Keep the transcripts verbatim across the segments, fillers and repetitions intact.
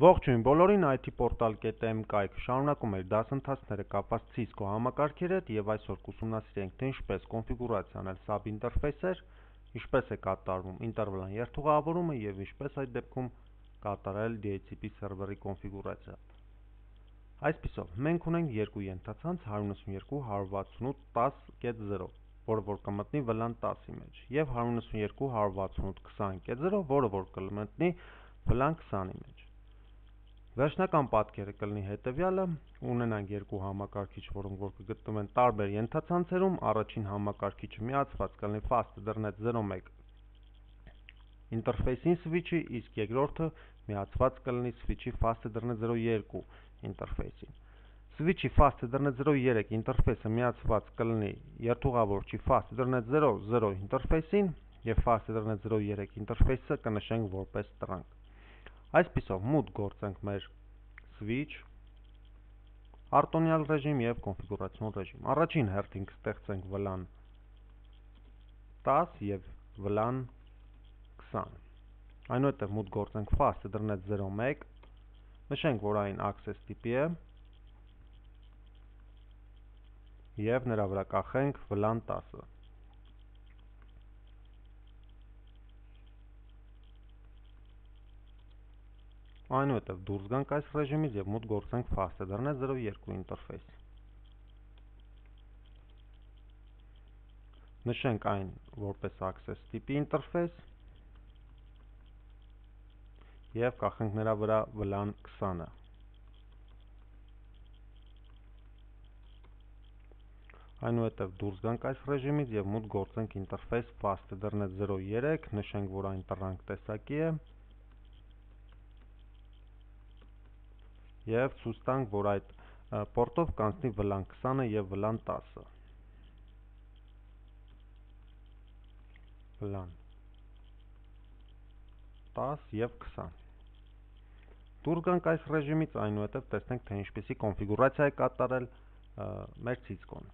Ողջույն բոլորին, I T Portal կետ M կայքը շարունակում էր դասընթացները կապված Cisco համակարգերի հետ եւ այսօր կուսումնասիրենք թե ինչպես կոնֆիգուրացիա անել sub ինտերֆեյսեր, ինչպես է կատարվում ինտերվալային երթուղավորումը եւ ինչպես այդ դեպքում կատարել D H C P սերվերի կոնֆիգուրացիա։ Այսպիսով, մենք ունենք երկու ենթացանց one ninety-two dot one sixty dot zero, որը որ կմտնի վլան տասի մեջ, եւ one ninety-two dot one sixty dot zero, որը որ կմտնի վլան twenty մեջ։ Վերջնական պատկերը կլինի հետևյալը, ունենանք երկու համակարգիչ, որոնք որ կգտնվեն տարբեր ենթացանցերում, առաջին համակարգիչը միացված կլինի Fast Ethernet zero one ինտերֆեյսին switch-ի, իսկ երկրորդը միացված կլինի switch-ի Fast Ethernet zero two ինտերֆեյսին։ Switch-ի Fast Ethernet zero three ինտերֆեյսը միացված կլինի երթուղավորչի Fast Ethernet zero zero ինտերֆեյսին եւ Fast Ethernet zero three ինտերֆեյսը կնշենք որպես տրանք։ Այսպիսով մուտք գործենք մեր switch, արտոնյալ ռեժիմ եւ կոնֆիգուրացիոն ռեժիմ։ Առաջին հերթին կստեղծենք վլան ten եւ վլան twenty։ Այնուհետեւ մուտք գործենք Fast Ethernet zero one, նշենք, որ այն access տիպի է եւ նրա վրա կախենք վլան ten-ը։ Այնուհետև դուրս գանք այս ռեժիմից եւ մուտք գործենք Fast Ethernet zero two ինտերֆեյս։ Նշենք այն որպես access տիպի ինտերֆեյս եւ կախենք նրա վրա վլան twenty-ը։ Այնուհետև դուրս գանք այս ռեժիմից եւ մուտք գործենք ինտերֆեյս Fast Ethernet zero three, նշենք, որ այն տրանք տեսակի է եւ ցույց տանք, որ այդ պորտով կանցնի վլան twenty եւ վլան ten-ը։ Վլան ten եւ twenty։ Դուրս գանք այս ռեժիմից, այնուհետև տեսնենք, թե ինչպիսի կոնֆիգուրացիա է կատարել մեր Cisco-ն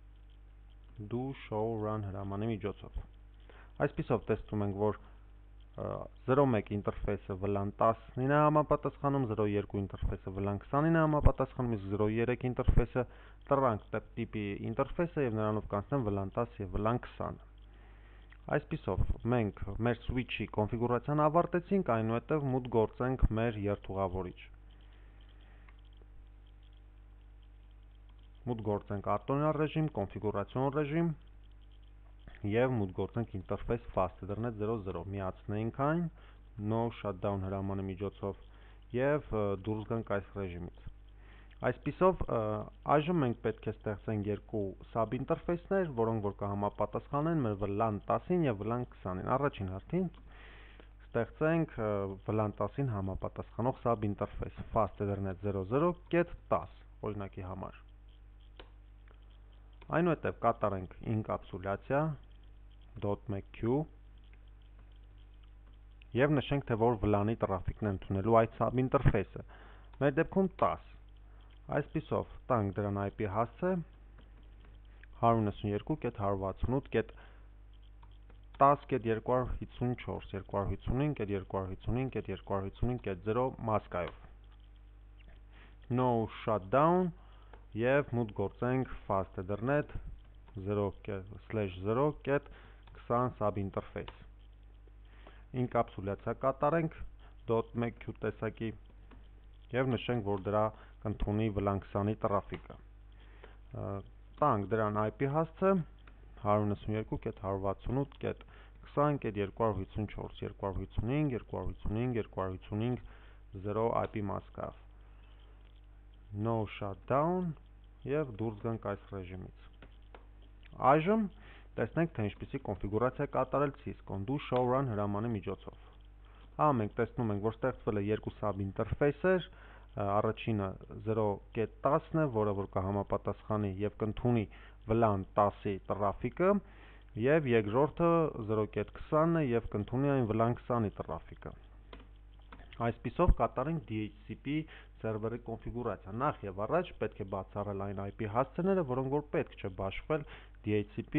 do show run հրամանի միջոցով։ Այսպիսով տեսնում ենք, որ zero one ինտերֆեյսը վլան ten-ին է համապատասխանում, zero two ինտերֆեյսը վլան twenty-ին է համապատասխանում, իսկ zero three ինտերֆեյսը տրանք տիպի ինտերֆեյս է եւ նրանով կանցնեն վլան ten եւ վլան twenty։ Այսպիսով, մենք մեր switch-ի կոնֆիգուրացիան ավարտեցինք, այնուհետև մուտք գործենք մեր երթուղավորիչ։ Մուտք գործենք արտոնյալ ռեժիմ, կոնֆիգուրացիոն ռեժիմ եւ մուտք գործենք ինտերֆեյս Fast Ethernet zero zero, միացնենք այն no shutdown հրամանի միջոցով եւ դուրս գանք այս ռեժիմից։ Այսպիսով, այժմ մենք պետք է ստեղծենք երկու sub ինտերֆեյսներ, որոնք որ կհամապատասխանեն մեր վլան ten-ին եւ վլան twenty-ին։ Առաջին հերթին ստեղծենք վլան ten-ին համապատասխանող sub ինտերֆեյս Fast Ethernet zero zero dot ten, օրինակի համար։ Այնուհետև կատարենք ինկապսուլյացիա .macq եւ նշենք, թե որ վլանի տրաֆիկն է ընդունելու այդ sub ինտերֆեյսը։ Մեր դեպքում ten։ Այսպիսով տանք դրան I P հասցե one ninety-two dot one sixty-eight dot ten dot two fifty-four, two fifty-five dot two fifty-five dot two fifty-five dot zero մասկայով։ No shutdown եւ մուտք գործենք Fast Ethernet zero slash zero dot twenty sub ինտերֆեյս։ Ինկապսուլյացիա կատարենք .macq տեսակի եւ նշենք, որ դրա կընդունի վլան twenty տրաֆիկը։ Տանք դրան I P հասցե one ninety-two dot one sixty-eight dot twenty dot two fifty-four, two fifty-five, two fifty-five, two fifty-five dot zero I P մասկայով։ No shutdown եւ դուրս գանք այս ռեժիմից։ Այժմ տեսնենք, թե ինչպիսի կոնֆիգուրացիա է կատարել Cisco-ն do show run հրամանի միջոցով։ Ահա մենք տեսնում ենք, որ ստեղծվել է երկու sub ինտերֆեյսեր, առաջինը zero dot ten է, որը որ կհամապատասխանի եւ կընդունի վլան ten-ի տրաֆիկը, եւ երկրորդը zero dot twenty է եւ կընդունի այն վլան twenty-ի տրաֆիկը։ Այսպիսով կատարենք D H C P սերվերի կոնֆիգուրացիա։ Նախ եւ առաջ պետք է բացառել այն I P հասցեները, որոնք որ պետք չէ բաշխվել D H C P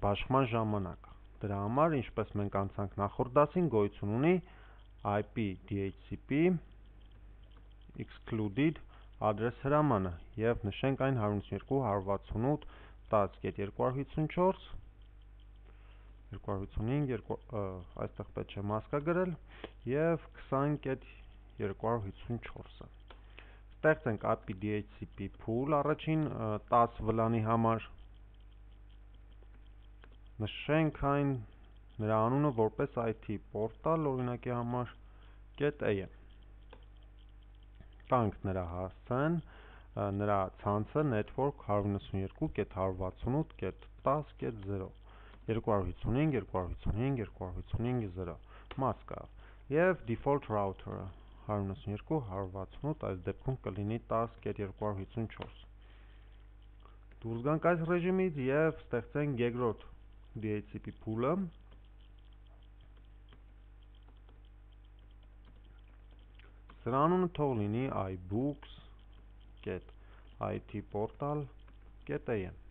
բաշխման ժամանակ։ Դրա համար, ինչպես մենք անցանք նախորդ դասին, գոյություն ունի I P D H C P excluded adress հրամանը և նշենք այն հարյուր ութսունյերկու հարյուր վաթսունութ տասը կետ երկու հարյուր հիսունչորս երկու հարյուր հիսունհինգ այստեղ պետք չէ մասկա գրել և քսան կետ երկու հարյուր հիսունչորսը ստեղծենք A P I D H C P pool առաջին տասը վլանի համար նշենք այն նրա անունը որպես I T portal օրինակի համար .am տանք նրա հասցեն նրա ցանցը network հարյուր նվսանյերկու կետ հարյուր վաթսունութ կետ տասը կետ զրո երկու հարյուր հիսունհինգ երկու հարյուր հիսունհինգ երկու հարյուր հիսունհինգ զրո մասկա և default router-ը հարյուր նվսանյերկու հարյուր վաթսունութ այս դեպքում կլինի տասը կետ երկու հարյուր հիսունչորս դուրս գանք այս ռեժիմից և ստեղծենք երկրորդ D H C P pool-ը սրա անունը թող լինի iBooks կետ I T portal կետ am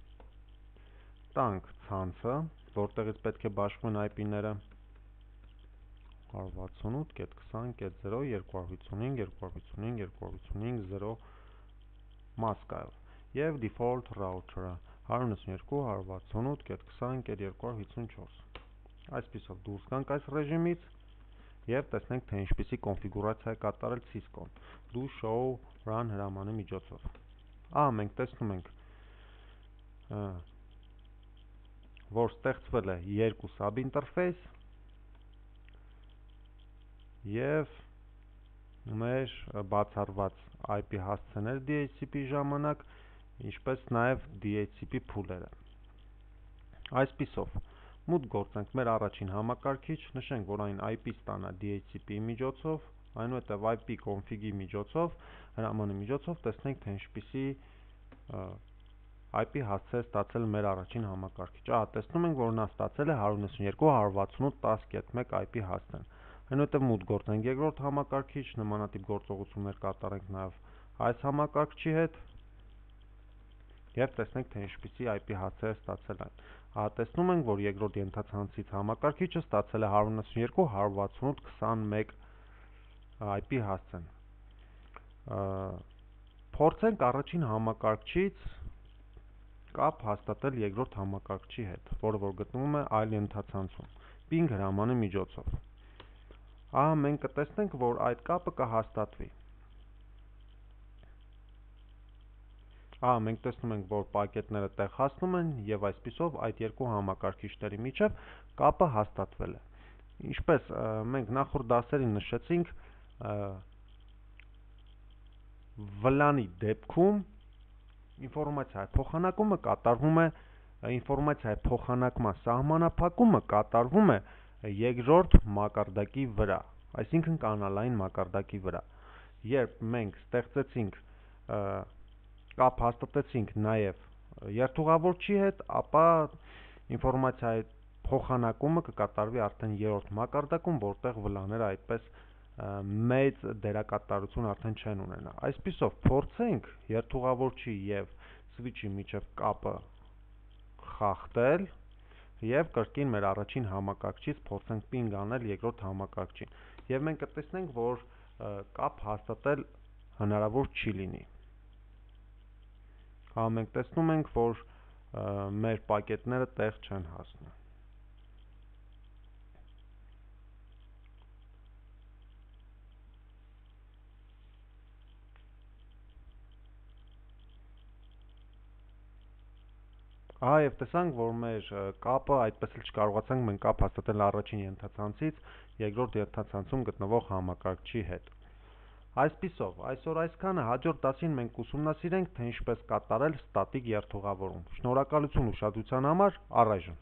տանք ցանցը որտեղից պետք է բաշխվեն I P-ները հարյուր վաթսունութ կետ քսան կետ զրո երկու հարյուր հիսունհինգ երկու հարյուր հիսունհինգ երկու հարյուր հիսունհինգ զրո մասկայով և default router-ը հարյուր նվսանյերկու հարյուր վաթսունութ կետ քսան կետ երկու հարյուր հիսունչորս այսպիսով դուրս գանք այս ռեժիմից և տեսնենք թե ինչպիսի կոնֆիգուրացիա է կատարել Cisco-ն do show run հրամանի միջոցով ահա մենք տեսնում ենք որ ստեղծվել է երկու sub interface և մեր բացառված I P հասցեներ D H C P ժամանակ ինչպես նաև D H C P pool-երը այսպիսով մուտք գործենք մեր առաջին համակարգիչ նշենք որ այն I P ստանա D H C P-ի միջոցով այնուհետև I P config-ի միջոցով հրամանի միջոցով տեսնենք թե ինչպիսի I P հասցե է ստացել մեր առաջին համակարգիչը ահա տեսնում ենք որ նա ստացել է հարյուր նվսանյերկու հարյուր վաթսունութ տասը կետ մեկ I P հասցեն այնուհետև մուտք գործենք երկրորդ համակարգիչ նմանատիպ գործողություններ կատարենք նաև այս համակարգչի հետ և տեսնենք թե ինչպիսի I P հասցե է ստացել այն ահա տեսնում ենք որ երկրորդ ենթացանցից համակարգիչը ստացել է հարյուր նվսանյերկու հարյուր վաթսունութ քսանմեկ I P հասցեն փորձենք առաջին համակարգչից կապ հաստատել երկրորդ համակարգչի հետ որը որ գտնվում է այլ ենթացանցում ping հրամանի միջոցով ահա մենք կտեսնենք որ այդ կապը կհաստատվի ահա մենք տեսնում ենք որ պակետները տեղ հասնում են և այսպիսով այդ երկու համակարգիչների միջև կապը հաստատվել է ինչպես մենք նախորդ դասերին նշեցինք վլանի դեպքում ինֆորմացիայի փոխանակումը կատարվում է ինֆորմացիայի փոխանակման սահմանափակումը կատարվում է երկրորդ մակարդակի վրա այսինքն կանալային մակարդակի վրա երբ մենք ստեղծեցինք կապ հաստատեցինք նաև երթուղավորչի հետ ապա ինֆորմացիայի փոխանակումը կկատարվի արդեն երրորդ մակարդակում որտեղ վլաները այդպես մեծ դերակատարություն արդեն չեն ունենա այսպիսով փորձենք երթուղավորչի և switch-ի միջև կապը խախտել և կրկին մեր առաջին համակարգչից փորձենք ping անել երկրորդ համակարգչին և մենք կտեսնենք որ կապ հաստատել հնարավոր չի լինի ահա մենք տեսնում ենք որ մեր պակետները տեղ չեն հասնում ահա և տեսանք որ մեր կապը այդպես էլ չկարողացանք մենք կապ հաստատել առաջին ենթացանցից երկրորդ ենթացանցում գտնվող համակարգչի հետ այսպիսով այսօր այսքանը հաջորդ դասին մենք կուսումնասիրենք թե ինչպես կատարել ստատիկ երթուղավորում շնորհակալություն ուշադրության համար առայժմ